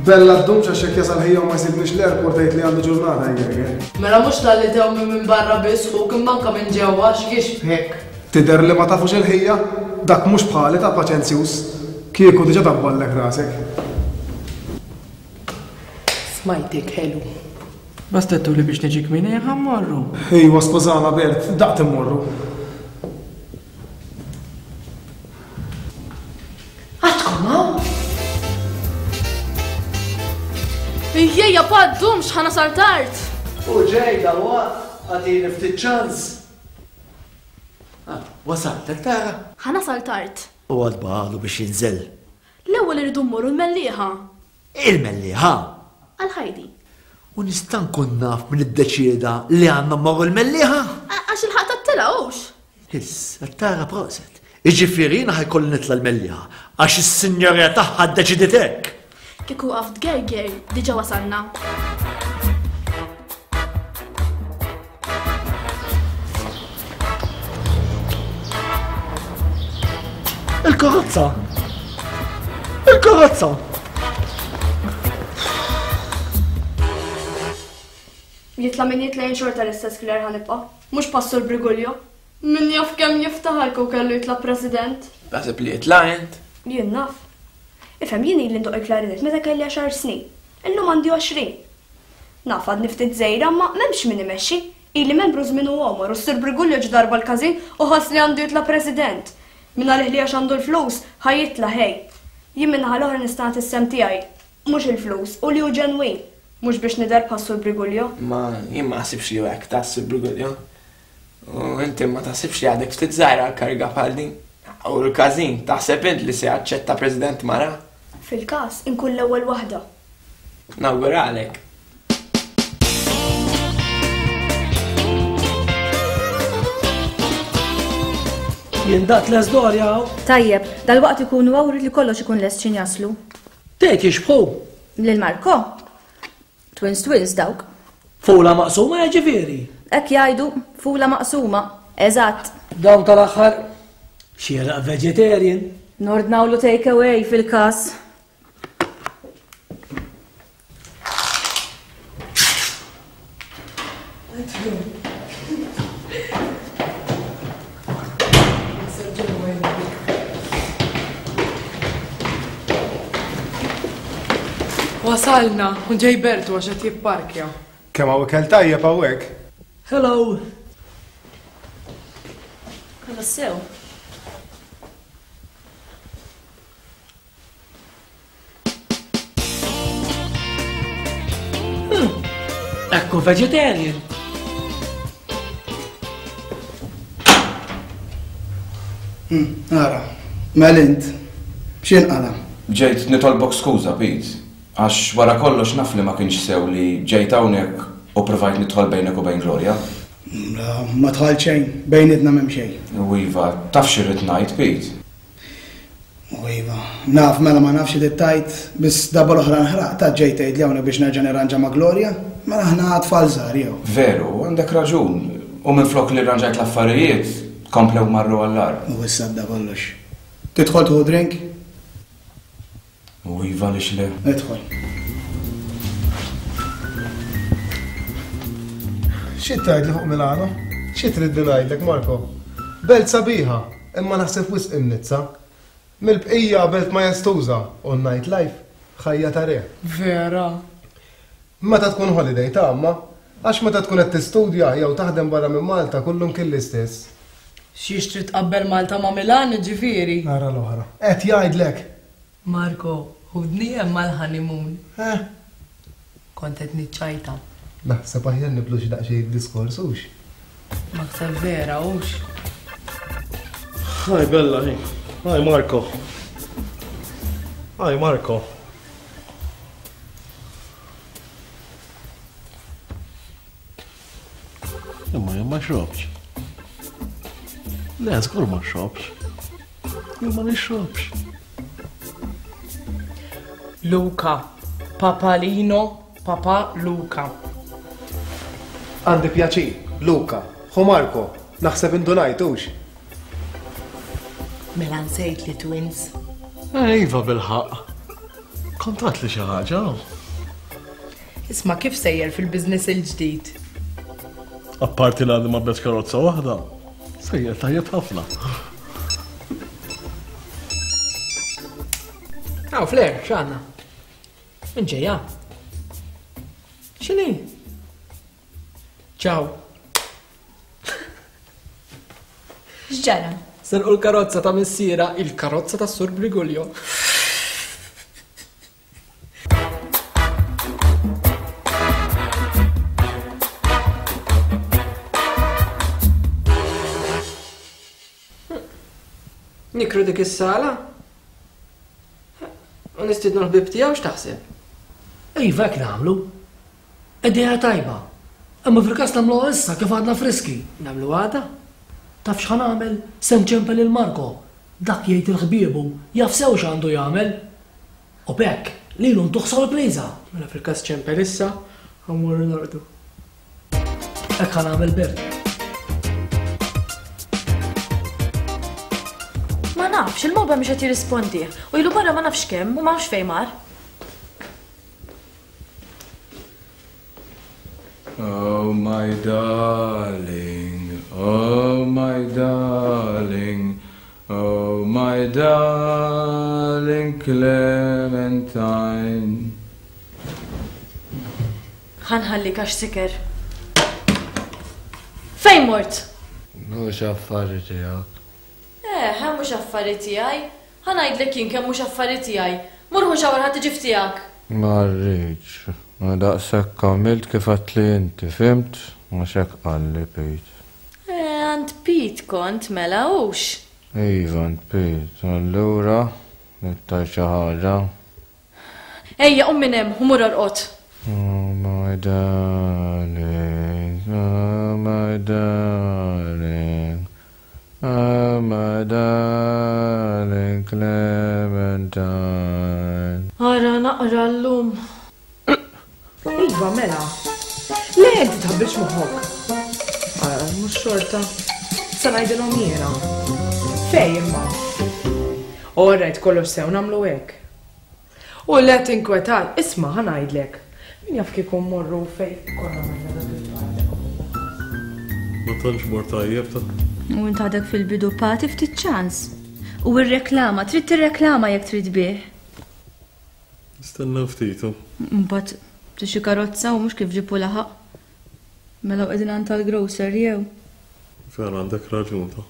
Bella ddumx għax jekk jasal ħija u ma jsibniex l-airport tgħid li għandu ġurnata jgerger. Mela mhux talli tewmi minn barra biss ħuk imma anke minn ġewwa x'jixbhek. Tidher li ma tafux il-ħija? Dak mhux bħali ta' paċenzjuż. Kieku diġà dabballek rasek. Smajtek ħelu. Basta għedtuli biex niġi kmieni ħa mmorru. Ejwa skużana Bert, daqt immorru. Għadkom hawn? Ejja, pa, ddumx, ħa nasal tard. U ġej dalwaqt, agħtini ftit ċans. Ah, wasalt, qed tara? Ħa nasal tard. U għad baqagħlu biex jinżel. L-ewwel irridu mmorru l-Mellieħa. Il-Mellieħa? Għal Heidi. U nista' nkun naf min iddeċieda li għandna mmorru l-Mellieħa? Għax il-ħaqq tat-telgħa hux. Hiss, qed tara proset. Jiġifieri jiena ħa jkolli nitla' l-Mellieħa għax is-sinjorija tagħha ddeċidiet hekk. Kieku waqaft tgerger, diġà wasalna. Il-karozza! Il-karozza! Jitla' min jitla' jien xorta l-istess Claire ħa nibqa'. Mhux Pastor Briguglio. Min jaf kemm jiftaħar kieku kellu jitla' President. Taħseb li jitla' int? Jien naf. Ifhem, jien ili ndoqq il-klarinet meta kelli għaxar snin. Illum għandi 20. Naf għadni ftit żgħira imma m'hemmx min imexxi. Ili membru żmien u għomor u s-Sur Briguglio ġie darba l-każin u ħass li għandu jitla' President. Mingħalih li għax għandu l-flus, ħa jitla' ħej. Jien min-naħa l-oħra nista' nagħti s-sehem tiegħi. Mhux il-flus, u li hu ġenwin. Mhux biex nidher bħas-Sur Briguglio. Imma jien ma naħsibx li hu hekk ta' s-Sur Briguglio. U inti ma taħsibx li għadek ftit żgħira għal kariga bħal din? U l-każin, taħseb int li se jaċċetta President mara? Fil-każ, inkun l-ewwel waħda. Nawguralek. Jien daqt lest Doria hawn. Tajjeb, dalwaqt ikunu hawn rrid li kollox ikun lest x'in jaslu. Tgħid jixbħu? Lil Marco? Twins twins dawk. Fula maqsuma jiġifieri? Hekk jgħidu, fula maqsuma. Eżatt. Dawn tal-aħħar xieraq vegetarian. Nordnawlu take away fil-każ. Wasalna, u ġej Bertu għax qed jipparkja. Kemm hawn ikel tajjeb hawnhekk. Hello. Kollox sew. Ekku vegetarian. Hmm, ara, mel int, x'inqala? Ġejt nitolbok skuża, Pete, għax wara kollox naf li ma kienx sew li ġejt hawnhekk u provajt nidħol bejnek u bejn Gloria. La, ma dħalt xejn, bejnietna m'hemm xejn. U iva, taf x'irrid ngħid, Pete. U iva, naf mela ma nafx xi tgħid, biss darba l-oħra nħraqt għad ġejt tgħidli hawnhekk biex nerġa' nirranġa ma' Gloria? Mela aħna tfal żgħar jew? Veru, għandek raġun. U minflok li rranġajt l-affarijiet, komplew marru għall-agħar. U issa għadda kollox. Tidħol tieħu drink? U iva għaliex le? Idħol. Xi tgħidli fuq Milano? Xi tridni ngħidlek, Marco? Belt sabiħa, imma naħseb wisq imnizza. Mill-bqija belt majestuża u n-night life ħajja ta' re. Vera. Meta tkun holiday ta' amma, għax meta tkun qed tistudja jew taħdem barra minn Malta kullumkien l-istess. Xiex trid tqabbel Malta ma' Milan jiġifieri? Ara l-oħra. Qed jgħidlek! Marco, ħudni hemm għall-honeymoon. Eh? Kont qed niċċajta. Naħseb aħjar nibdlu xi daqsxejn id-diskors, hux? L-aktar vera, hux? Hi Bella, hi. Hi Marco. Hi Marco. Imma jien ma xrobx. Le, żgur ma xrobx. Jien ma nixrobx. Luca. Papalino, Papa Luca. Għandi pjaċir, Luca. Ħu Marco, naħseb indunajt, hux? Mela nsejt li twins. Eh, iva bilħaqq. Kont għatli xi ħaġa. Isma' kif sejjer fil-business il-ġdid? Apparti li għandi ma bes karozza waħda, sejjer tajjeb ħafna. Aw, Flair, x'għandna? Min ġejja? X'inhi? Ciao. X'ġara? Serqu l-karozza ta' missiera, il-karozza ta' Sur Brigulio. Nikru dik is-sala? U nistiednu l-ħbieb tiegħu x'taħseb? Iva hekk nagħmlu. Idea tajba. Imma fil-każ nagħmluha issa kif għadna friski. Nagħmlu għada? Taf x'ħa nagħmel? Se nċempel lil Marco. Dak jgħid il-ħbiebu, jaf sew x'għandu jagħmel. U b'hekk, lilu ntuh sorpriża. Mela fil-każ ċempel issa, ħa mmorru norqdu. Hekk ħa nagħmel Bert. Ma nafx, il-mobile mhux qed jirrispondi. U ilu barra ma nafx kemm u ma nafx fejn mar. Oh my darling, oh my darling, oh my darling Clementine. Ħa nħallik għax siker. Fejn mort? Mhux affari tiegħek. Eh, mhux affari tiegħi. Ħa ngħidlek jien kemm mhux affari tiegħi. Mur ħu shower ħa tiġi f'tiegħek. Ma rridx. Ma daqshekk għamilt kif għedtli inti, fhimt? Għax hekk qalli Pete. Eh, għand Pete kont mela hux? Iva, għand Pete. Allura, trid tgħid xi ħaġa? Ejja, qum minn hemm u mur orqod. Oh my darling, oh my darling, oh my darling Clementine. Ara naqra llum. Iva, mela. Le, inti tħabbilx moħħok. Ara, mhux xorta. Sa ngħidilhom jiena. Fej imma. All right, kollox sew nagħmlu hekk. U le tinkwetat, isma' ħa ngħidlek. Min jaf kieku mmorru fejn konna morna dak il-party. Ma tantx mor tajjeb ta'. U int għadek fil-bidu pati ftit ċans. U rreklama, trid tirreklama jekk trid bih. Nistennew ftit u. Mbagħad tixtri karozza u mhux kif ġib u laħaq. Mela u qegħdin għand tal-grocer jew? Vera għandek raġun ta.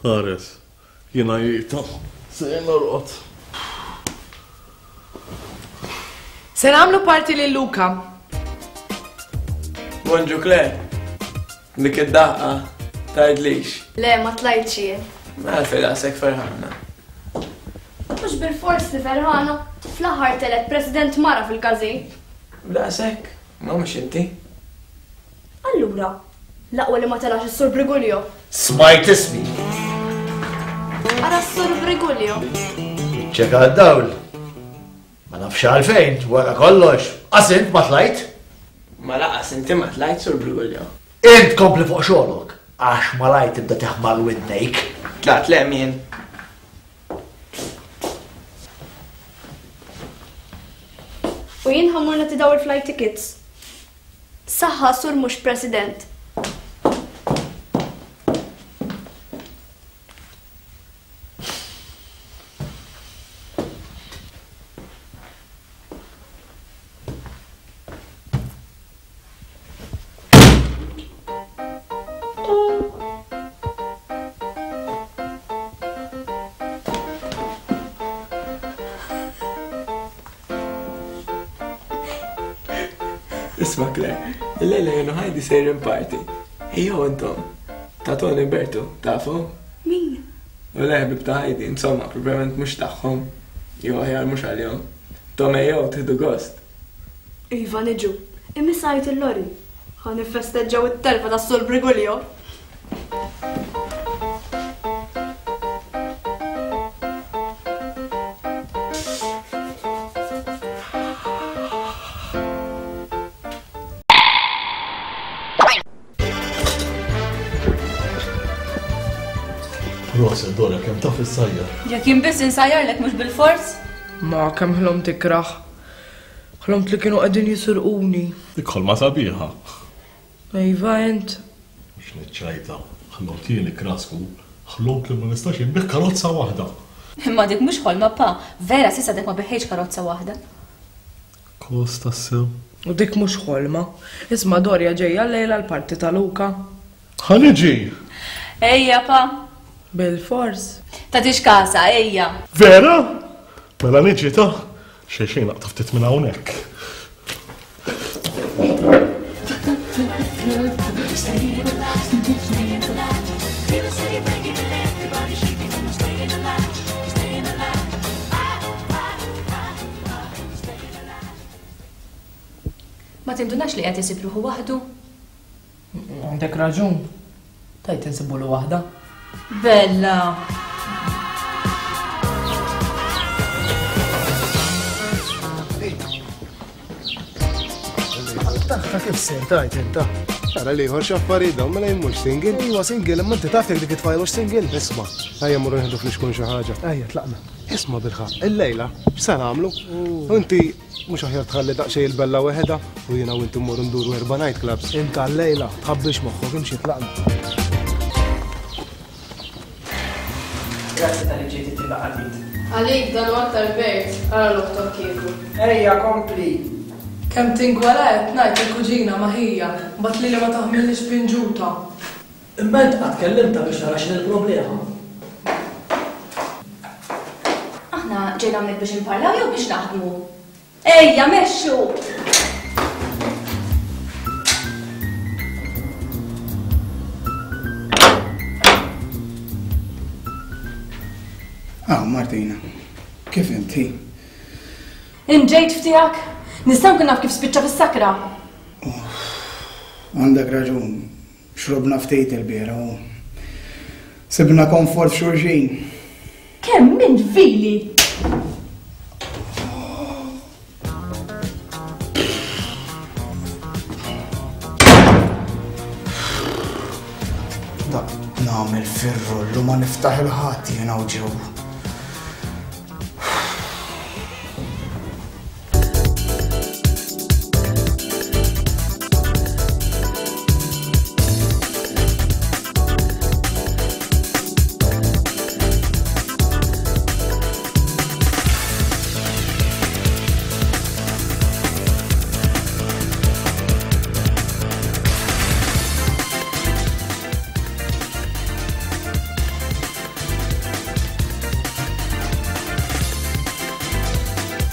Ħares. Jien għajjita. Sejjer norqod. Se nagħmlu party lil Luca. Bonġu Claire. Dik id-daqqa tgħidlix. Le, ma tlajtx jien. Mela għalfejn daqshekk ferħana. Mhux bilfors li ferħana. Fl-aħħar telgħet President mara fil-każin. B'daqshekk? Ma mhux inti. Allura, l-aqwa li ma telax is-Sur Briguglio. Smajt ismi. Ara s-Sur Briguglio. Iċċeka d-dawl. Ma nafx għalfejn, wara kollox, qas int ma tlajt. Ma laqas inti ma tlajt, Sur Briguglio. Int kompli fuq xogħlok, għax malajr tibda teħmar widnejk. Tlaqt le hemm jien. U jien ħa mmur nagħti daw il-flight tickets. Saħħa sur mhux President. Isma' Claire, illejla jien u Heidi sejrin party. Ejjew intom. Ta' Tony Bertu, tafu? Min? U le ħbieb ta' Heidi, insomma, proprjament mhux tagħhom. Jew aħjar mhux għalihom. Tom ejjew tieħdu gost. Iva niġu. Imiss għajt il-Lori. Ħa niffesteġġaw it-telfa tas-Sur Briguglio. Proset Dora kemm taf issajjar. Jekk jien biss insajjarlek mhux bilfors? Ma kemm ħlomt ikrah. Ħlomt li kienu qegħdin jisirquni. Dik ħolma sabiħa. Iva int. Mhux niċċajta. Ħlomt jien ikrah żgur. Ħlomt li ma nistax inbigħ karozza waħda. Imma dik mhux ħolma pa, vera s'issa għadek ma biħejtx karozza waħda. Kos tassew. U dik mhux ħolma. Isma' Dorja ġejja llejla l-party ta' Luca. Ħa niġi! Ejja pa. Bilfors. Tagħtix kasha, ejja. Vera? Mela niġi ta'. Xejn xejn naqta' ftit minn hawnhekk. Ma tindunax li qed isib ruħu waħdu? Għandek raġun. Tajt insibulu waħda. Bella! Taħħa kif ser tajt inta? Tara li ieħor x'affarijiet dawn mela jien mhux single. Iwa single, imma inti taf jekk dik it-tfajla hux single. Isma', ejja mmorru nieħdu flixkun xi ħaġa. Ejja tlaqna. Isma' bilħaqq, illejla x'se nagħmlu? Inti Mhux aħjar tħalli daqsxejn il-Bella weħedha u jiena u inti mmorru nduru erba' night clubs? Int għal-lejla, tħabbilx moħħok, imxi tlaqna. Grazzi talli ġejt ittina qalbit. Għalik dan hu aktar Bert, ara l-oħtok kieku. Ejja kompli! Kemm tingwala qed ngħid il-kuġina ma' ħija, mbagħad lili ma taħmillix pinġuta. Imma int qatt kellimtha biex tara x'inhi l-problema? Aħna ġejna hawnhekk biex inparlaw jew biex naħdmu? Ejja, mexxu! Ah, Martina, kif inti? Int ġejt f'tiegħek? Nista' nkun naf kif spiċċa fis-sakra? Għandek raġun, Xrobna ftit il-biera u sibna komfort f'xulxin. Kemm int vili! Daqt nagħmel fir-rullu ma niftaħ il-ħadd jiena u ġew.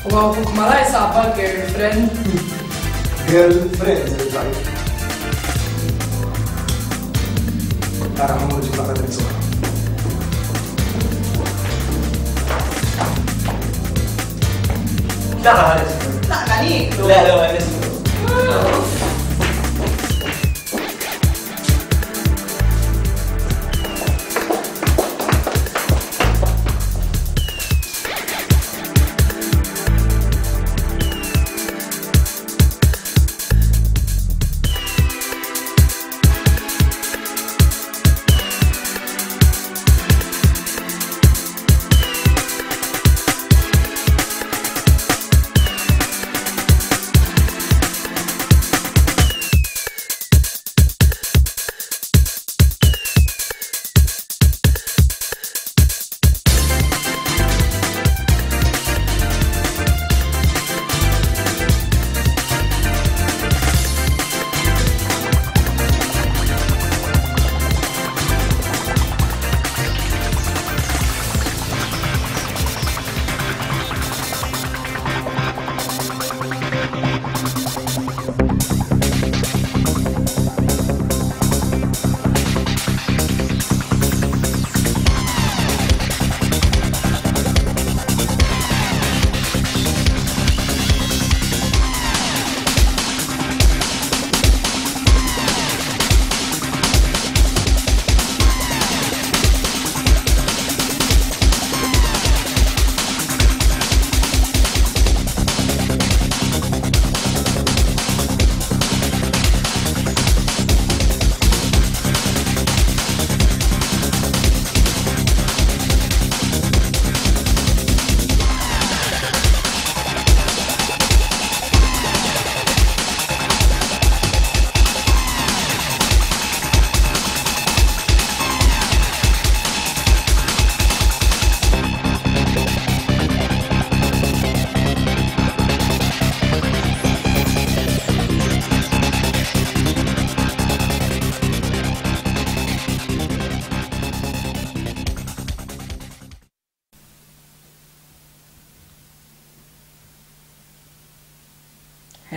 U għaw buk malaj saba girlfriend. Girlfriend, il-għajt. Tara, għamur ġibna ta' drinks Tlaqna ħanisru. Tlaqna niklu. Le, le, ħanisru.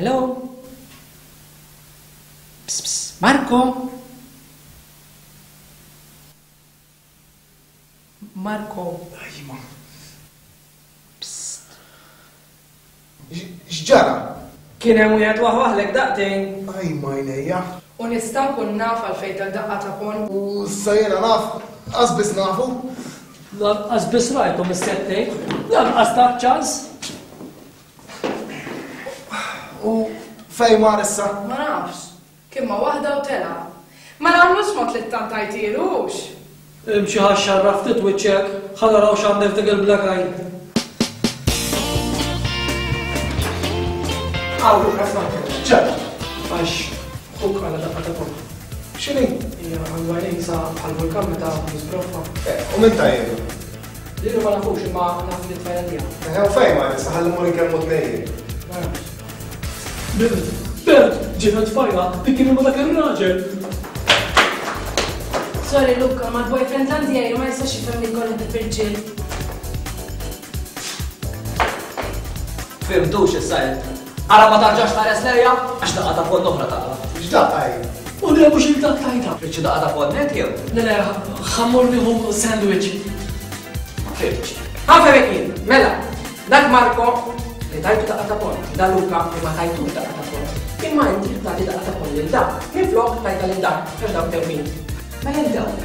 Hello? Ps, ps, Marco? Marco. Ajma. Psst. X'ġara? Kien hemm wieħed waħwaħlek daqtejn. Ajma għajnejja. U nista' nkun naf għalfejn tak daqqa ta' ponn? U issa jiena naf, qas biss nafu. Lanqas biss rajtu mis-settejn, lanqas tak ċans. U fejn mar issa? Ma nafx. Kien ma' waħda u telaq. Ma nagħmlux mod li ttantajtielu hux? Imxi ħa xxarraf ftit wiċċek, ħa naraw x'għandek f'dik il-black eye. Hawn Luca Franco. X'ġara? Għax ħuk qala daqqa ta' ponn. X'inhi? Hija għandu għajnejn sa bħal vulkan meta jiżbroffa. Eh, u min tajjelu? Lilu ma nafux imma naf li tfajla tiegħu. Eh, u fejn ma issa ħalli mmur inkellmu tnejn. Ma nafx. Bert, Bert, ġiet tfajla li kien ma dak ir-raġel. Sorry Luca, ma l-boyfriend għandi għajru ma jistax jifhem li jkolli ħbieb irġiel. Fhimtux issa int. Ara ma tarġax tħares lejja għax daqqa ta' ponn oħra taqla'. X'daqqa hi? U le mhux il dak tajta. Trid xi daqqa ta' ponn int jew? Le le, ħa mmur nieħu sandwich. Ma fhimtx. Ħa nfehmek jien, mela, Dak Marco li tajtu daqqa ta' ponn, da Luca li ma tajtux daqqa ta' ponn. Imma inti trid tagħti daqqa ta' ponn lil dak, minflok tajtha lil dak, għax dawk tewmin. Mela int dawn.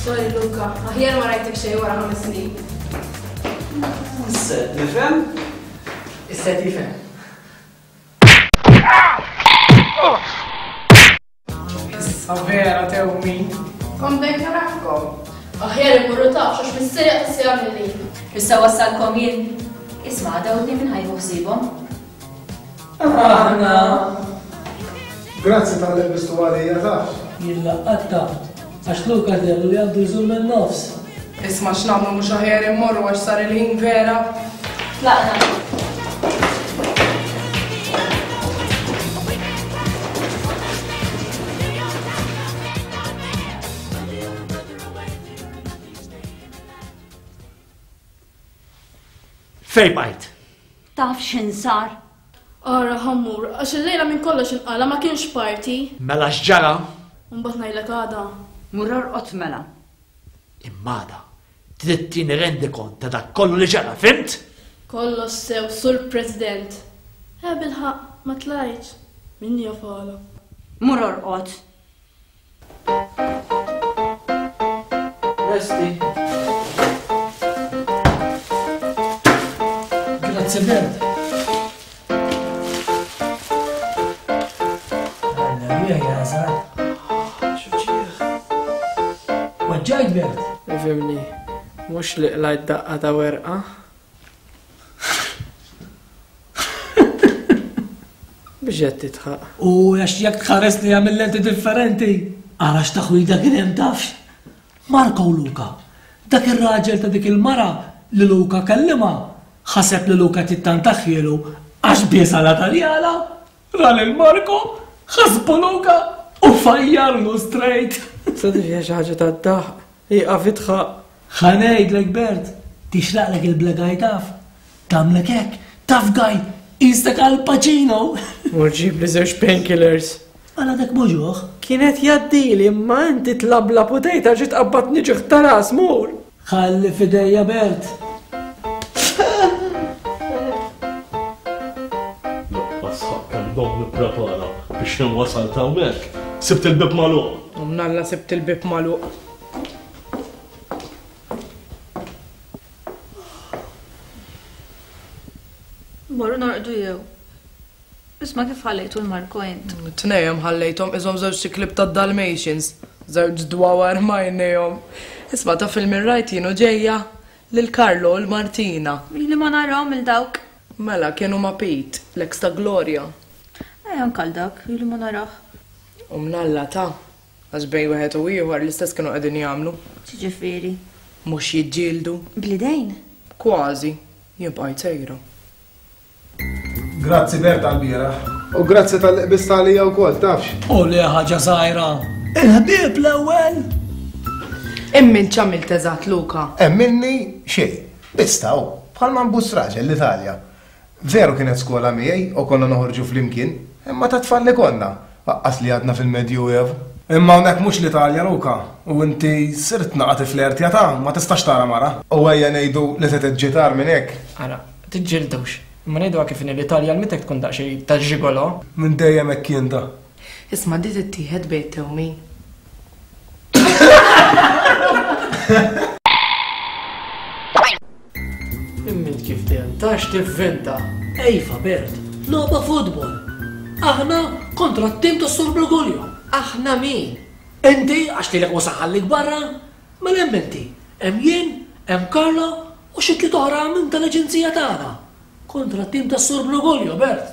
Sorry Luca, aħjar ma rajtek xejn wara ħames snin. Issa qed nifhem. Issa qed jifhem. Issa vera tewmin. Kont bdejt narafkom. Aħjar immorru tafx għax missieri qatt se jagħmilli. Issa wassalkom jien. Isma' dawtni min ħa jieħu ħsiebhom. Aħna. Grazzi talli lbistu għalija tafx. Jien laqqattha għax Luca deherlu li għandu jżur min-nofs. Isma' x'nagħmlu mhux aħjar immorru għax sar il-ħin vera? Tlaqna. Fejn bqajt? Taf x'in sar? Ara ħammur, għax illejla minn kollox inqala ma kienx party. Mela x'ġara? Mbagħad ngħidlek għada. Mur orqod mela. Imma għada trid tini rendikont ta' dak kollu li ġara, fhimt? Kollox sew, Sur President. Eh bilħaqq, ma tlajtx. Min jaf għala. Mur orqod. Lesti. Grazzi Bert. Weġġajt Bert? Ifhimni, mhux li qlajt daqqa ta' werqa. Biex qed tidħaq. U għax jekk tħares li għamil lenti differenti, ara x'taħwida kien hemm tafx. Marco u Luca. Dak ir-raġel ta' dik il-mara li Luca kellimha, ħaseb li Luca qed jittantaħhielu għax biesha la Taljana, ra lil Marco, ħasbu Luca u fajjarlu straight. Sa dik hija xi ħaġa tad-daħq. Ieqaf idħaq. Ħa ngħidlek Bert, tixraqlek il-black eye taf. Tagħmlek hekk, tough guy, qisek Al Pacino! Mur ġibli żewġ painkillers. Għala dak muġugħ? Kien qed jgħaddili imma inti tlablab u tgħid għax tqabbadni ġieħ ta' ras, mur! Ħalli f'idejja Bert. Laqqas ħaqq kemm domt nipprepara biex kemm wasalt hawnhekk, sibt il-bieb magħluq. U mnalla sibt il-bieb magħluq. Morru norqdu jew? Isma' kif ħallejtu l-Marco int? Tnejhom ħallejthom qishom żewġt iklieb tad-Dalmatians. Żewġ dwawar m'għajnejhom. Isma' taf 'il min rajt jien u ġejja? Lil Carlo u 'l Martina. Ili ma narahom 'il dawk. Mela kienu ma' Pete, l-ex ta' Gloria. Eh anke għal dak, ili ma narah. U mnalla ta', għax bejn wieħed u ieħor l-istess kienu qegħdin jagħmlu. X'jiġifieri? Mhux jiġġieldu. Bl-idejn? Kważi. Jien bqajt sejra. Grazzi Bert għall-bieraħ. U grazzi talli qbist għalija wkoll, tafx. U le ħaġa żgħira. Il-ħbieb l-ewwel! Imma int x'għamilt eżatt, Luca? Emminni xejn. Biss ta' hu. Bħalma nbus raġel l-Italja. Veru kienet skola miegħi u konna noħorġu flimkien, imma ta' tfal li konna, aqqas li għadna fil-Medjuev. Imma hawnhekk mhux l-Italja, Luca, u inti sirt naqa' tiflertja ta' ma tistax tara mara. U ejja ngħidu li setgħet ġiet agħar minn hekk. Ara, tiġġieldux. Imma ngħiduha kif inhi l-Italja l-mitek tkun daqsxejn ta' ġigolò. Minn dejjem hekk kien ta'. Isma' di tittieħed bejn it-tewmin. Imma int kif dejjem tax tivvinta. Ejfa Bert, logħba futbol. Aħna kontra t-tim tas-Sur Brigulio. Aħna min? Inti għax lilek mhux se nħallik barra, mela hemm inti, hemm jien, hemm Carlo u xi tliet oħra minn tal-aġenzija tagħna. Kontra t-tim tas-Sur Brigulio, Bert.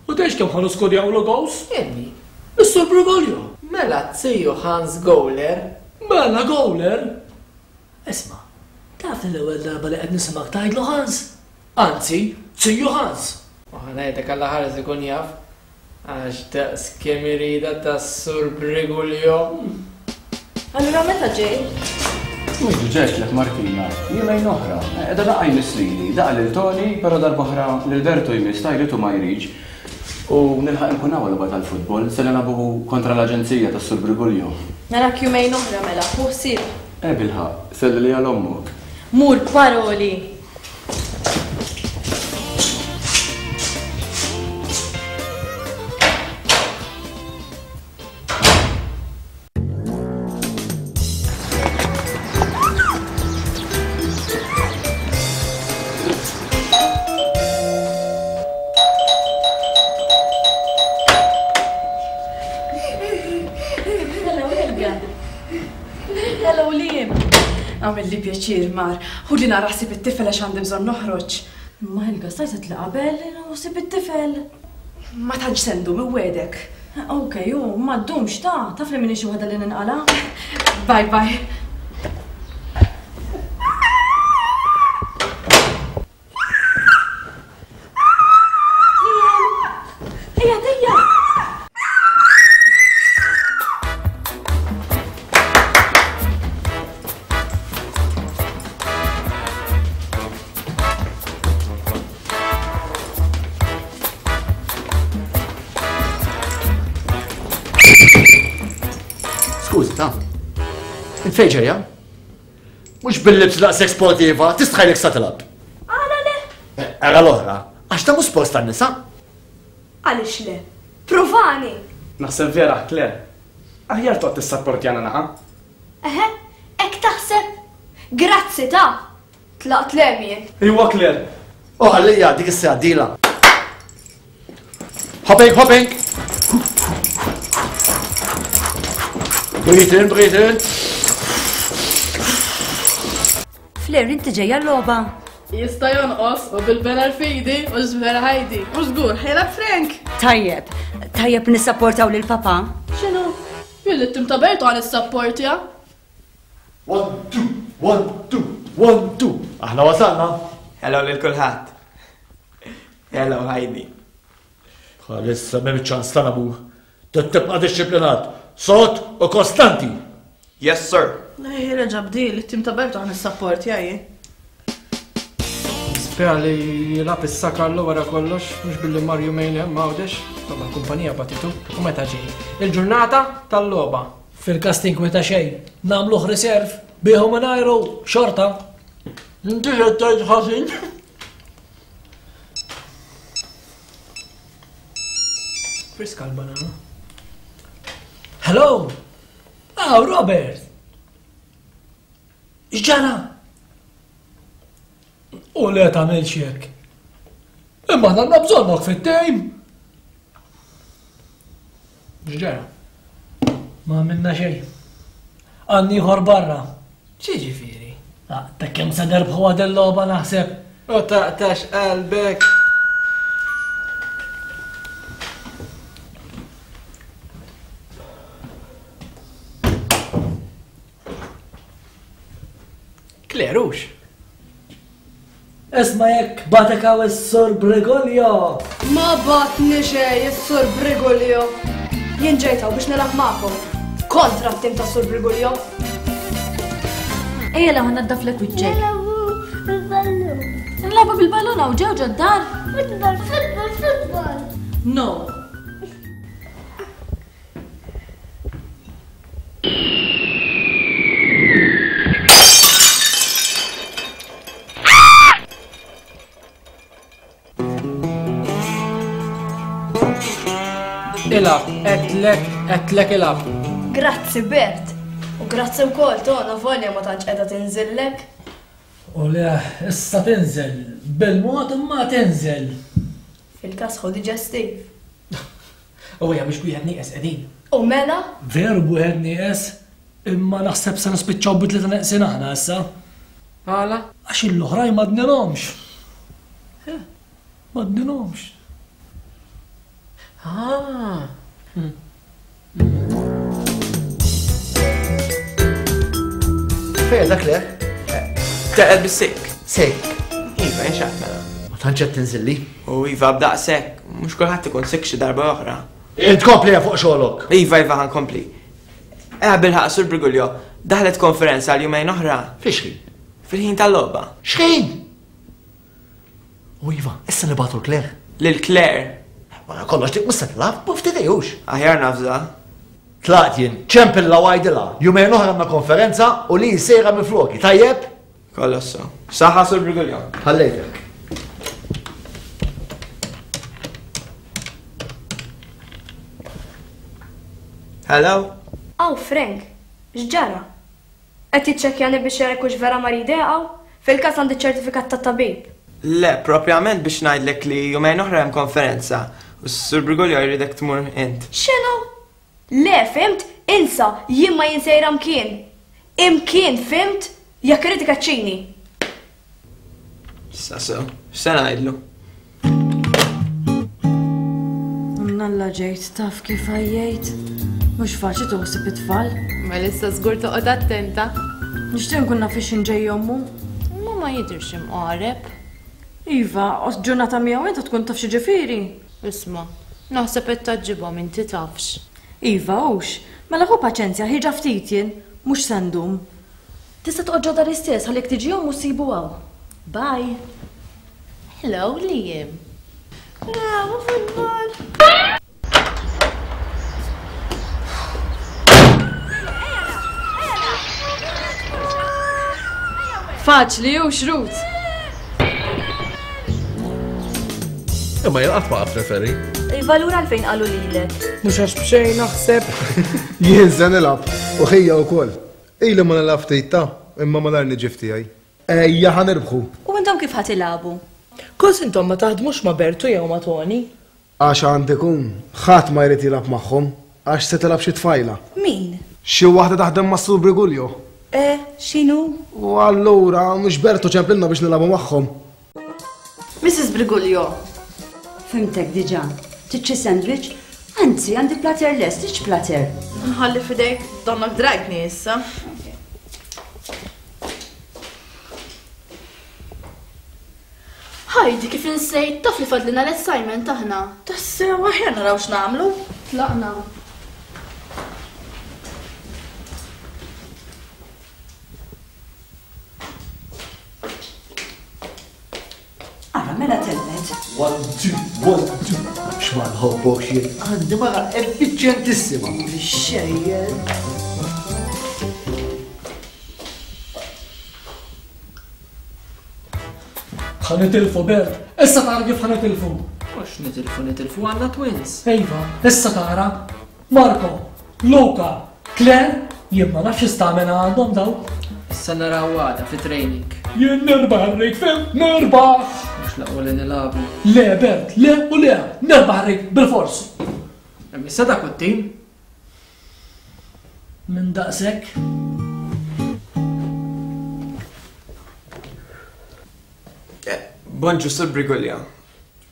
U tgħidx kemm ħa niskurjawlu goals? Min? Is-Sur Brigulio. Mela t-tiju Hans Goaler. Mela Goaler? Isma', taf li l-ewwel darba li qed nisimgħek tgħidlu Hans? Anzi, Ziju Hans! U ħa ngħidlek Alla ħares ikun jaf, għax daqs kemm iridha tas-Sur Briguglio. Allura meta ġej? Mhux diġà għedtlek Martina, jumejn oħra. Qiegħda daqqa jmiss lili, daqqa lil Toni, però darb'oħra lil Bertu jmiss, ta jrid u ma jridx. U nilħaq inkun hawn għal-logħba tal-futbol, se nilagħbu kontra l-aġenzija tas-Sur Briguglio. Narak jumejn oħra mela, ħu ħsieb. Eh bilħaqq, sellili għal ommok. Mur b'paroli! Hello, Helga. Hello, Liam. Għamilli pjaċir, Mar. Ħudli nara ħsieb it-tifel għax għandi bżonn noħroġ. Imma Helga stajt li qabel u ħsieb it-tifel. Ma tantx se ndum, inwegħdek. Ok, u ma ddumx ta, taf li m'iniex xi waħda li ninqala'. Bye bye. Ejja, ejja! Skużi, ta' Int fejn ġejja? Mhux bil-libs daqshekk sportiva, tistħajlek sa tilgħab. Għala le? Eh, ara l-oħra, għax ta' mhux sport tan-nisa. Għaliex le? Provani! Naħseb vera, Claire. Aħjar toqgħod tissapportjana naqa. Eħe, hekk taħseb? Grazzi ta' Tlaqt 'l hemm jien. Iwa Claire. U ħallija dik is-siegħa d-dieħla. Hopping, hopping! Breathe in, breathe in. Flair, inti ġejja l-logħba? Jista' jonqos u bil-banner f'idi u x'vera Heidi. U żgur ħajlab Frank. Tajjeb, tajjeb nissapportaw lil papa. X'inhu? Jien lit-tim ta' Bertu għan issapportja. One, two, one, two, one, two. Aħna wasalna. Hello lil kulħadd. Hello Heidi. Bħalissa m'hemm ċans ta' nabu. Tibqa' dixxiplinat, sod u kostanti. Yes, sir. Ej, reġa' bdil, it-tim ta' Bertu ħa nissapportja jien. Spera li jilgħab issa Carlo wara kollox, mhux billi mar jumejn hemm Għawdex, imma l-kumpanija bagħtitu u meta ġej. Il-ġurnata tal-logħba. Fil-każ tinkweta xejn, nagħmluh riserv, bih u mingħajru, xorta. Inti qed tgħid ħażin. Friska l-banana. Hello! Aw, Robert! X'ġara? U le tagħmilx hekk. Imma aħna għandna bżonnok fit-tejm. X'ġara? Ma għamilna xejn. Għandni ieħor barra. X'jiġifieri? Ah, ta' kemm se nerbħu għad il-logħba naħseb. U taqtax qalbek. Claire, hux? Isma' jekk bagħtek hawn is-Sur Brigulio! Ma bagħatni xejn is-Sur Brigulio! Jien ġejt hawn biex nilgħab magħkom. Kontra t-tim tas-Sur Brigulio! Ejja la naddaflek wiċċek. Nilagħbu bil-ballun. Nilagħbu bil-ballun hawn ġew ġod-dar? Futbol, futbol, futbol! No. Ilgħab, għedtlek, għedtlek ilgħab. Grazzi Bert. U grazzi wkoll Tona volja ma tantx qiegħda tinżillek. U le, issa tinżel. Bil-mod imma tinżel. Fil-każ ħu diġestiv. U ejja mhux b'wieħed nieqes qegħdin. U mela? Veru b'wieħed nieqes, imma naħseb se nispiċċaw bi tlieta neqsin aħna issa. Għala? Għax l-oħrajn m'għadnilhomx. M'għadnilhomx. Ah. Fejn dak le? Teqed bis-sikk. Sikk. Iva, inxaqt mela. Ma tantx qed tinżilli. U iva b'daqshekk, mhux kulħadd ikun sikk xi darba oħra. Int kompli fuq xogħlok. Iva, iva ħankompli. Eħ bilħaq Sur Briguglio, daħlet konferenza għal jumejn oħra. Fiex ħin? Fil-ħin tal-logħba. X'ħin? U iva, issa nibgħatu l-Claire. Lil Claire? Wara kollox dik mhux se tilgħab, u ftit ejux. Aħjar nafża. Tlaqt jien, ċempilla u għidilha, jumejn oħra għandna konferenza u li sejra minn floki, tajjeb? Kollox sew. Saħħa Sur Briguglio. Ħallejtek. Hello? Aw Frank, x'ġara? Qed jiċċekkjani biex jara jekk hux vera marid eqgħu? Fil-każ għandi ċ-ċertifikat tat-tabib. Le, propjament biex ngħidlek li jumejn oħra hemm konferenza u s-Sur Briguglio jridek tmur int. X'inhu? Le, fhimt? Insa, jien ma jien sejra mkien. Imkien, fhimt? Jekk irid ikeċċini. Issa sew, x'se ngħidlu? Mnalla ġejt taf kif għajjejt. Mhux faċli toħsib it-tfal. Mela issa żgur toqgħod attenta. Nixtieq nkun naf ix ġej ommu. Imma ma jidhirx imqareb. Iva, ġurnata miegħu inta tkun taf xi ġifieri. Isma', naħseb qed tgħaġġibhom inti tafx. Iva, hux. Mela ħu paċenzja, ħieġa ftit jien, mhux se ndum. Tista' toqgħod ġo dari stess ħalli jekk tiġi ommu ssibu hawn. Bye. Hello Liam. Bravo football. Faċli hux Ruth? Imma jien qatt ma qatt referi. Iva allura għalfejn qalu lilek? Mhux għax b'xejn naħseb. Jien se nilgħab u ħija wkoll. Ili ma nilgħab ftit ta, imma malajr niġi f'tiegħi. Ejja ħa nirbħu! U intom kif ħa tilagħbu? Kos intom ma taħdmux ma' Bertu jew ma' Toni? Għax għand ikun, ħadd ma jrid jilgħab magħhom, għax se tilgħab xi tfajla. Min? Xi waħda taħdem mas-Sur Briguglio. Eh, x'inhu? U allura, mhux Bertu ċemplilna biex nilagħbu magħhom? Mrs. Briguglio. Fhimtek diġà. Trid xi sandwich? Anzi, għandi platter lest, tridx platter? Nħalli f'idejk, donnok drajtni issa. Heidi, kif insejt, taf li fadlilna l-assignment aħna. Tassew, aħjar naraw x'nagħmlu. Tlaqna. Ara, mela telqet. One, two, one, two. X'ma nħobbokx jien, għandi mara effiċjentissima. Xejjer. Ħa nitilfu, Bert. Issa tara kif ħa nitilfu. Mhux nitilfu, nitilfu għandna twins. Iva, issa tara. Marco, Luca, Claire, jien ma nafx x'istamina għandhom dawn. Issa naraw għada fi training. Jien nirbaħ irrid, fhimt? Nirbaħ! Mhux l-aqwa li nilagħbu. Le Bert, le u le, nirbaħ irrid bilfors. Imma issa dak hu t-tim. Minn daqshekk. Bonġu Sur Briguglio.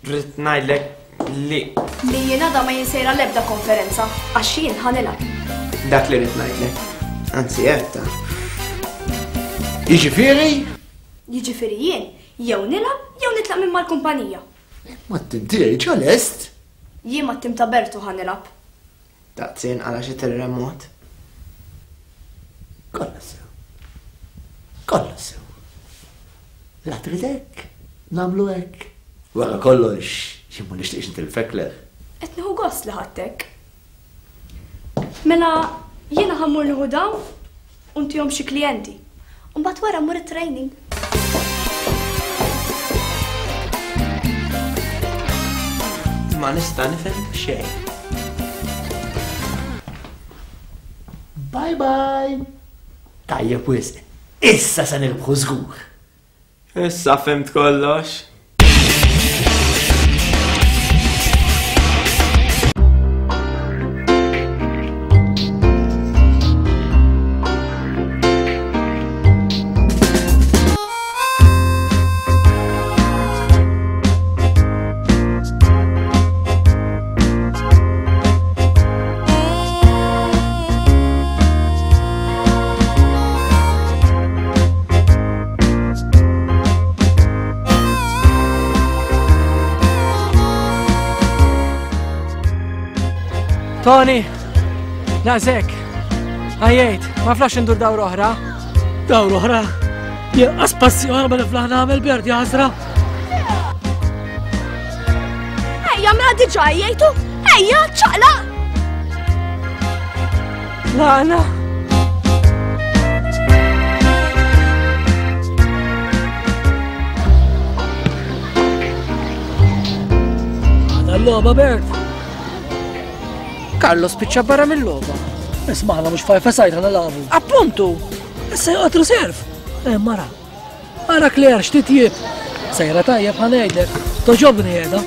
Rrid ngħidlek li. Li jien għada ma jien sejra l-ebda konferenza, għax jien ħa nilgħab. Dak li rrid ngħidlek. Anzi, għedtha. Jiġifieri? Jiġifieri jien jew nilgħab jew nitlaq minn mal-kumpanija. Imma t-tim tiegħi ġa lest. Jien mat-tim ta' Bertu ħa nilgħab. Daqs jinqala' xi terremot. Kollox sew. Kollox sew. La trid hekk, nagħmlu hekk. Wara kollox, jien ma nixtieqx nitilfek Claire. Qed nieħu gost li ħadtek. Mela jiena ħa mmur nieħu dawn u ntihom xi klijenti. U mbagħad wara mmur it-training. Ma nista' nifhem xejn. Bye bye! Tajjeb wisq. Issa se nirbħu żgur. Issa fhimt kollox. Tony, daqshekk. Għajjejt, ma flax indur dawra oħra. Dawra oħra? Jien passi oħra ma niflaħ nagħmel Bert jaħasra. Ejja, mela diġà għajjejtu! Ejja, ċaqlaq! Lana! Għada l-logħba Bert. Carlo spiċċa barra mill-logħba. Isma' aħna mhux five aside ħa nilagħbu. Appuntu! Issa joqgħod reserve. Eh mara. Ara Claire x'titjib. Sejra tajjeb ħa ngħidlek. Toġobni qiegħda.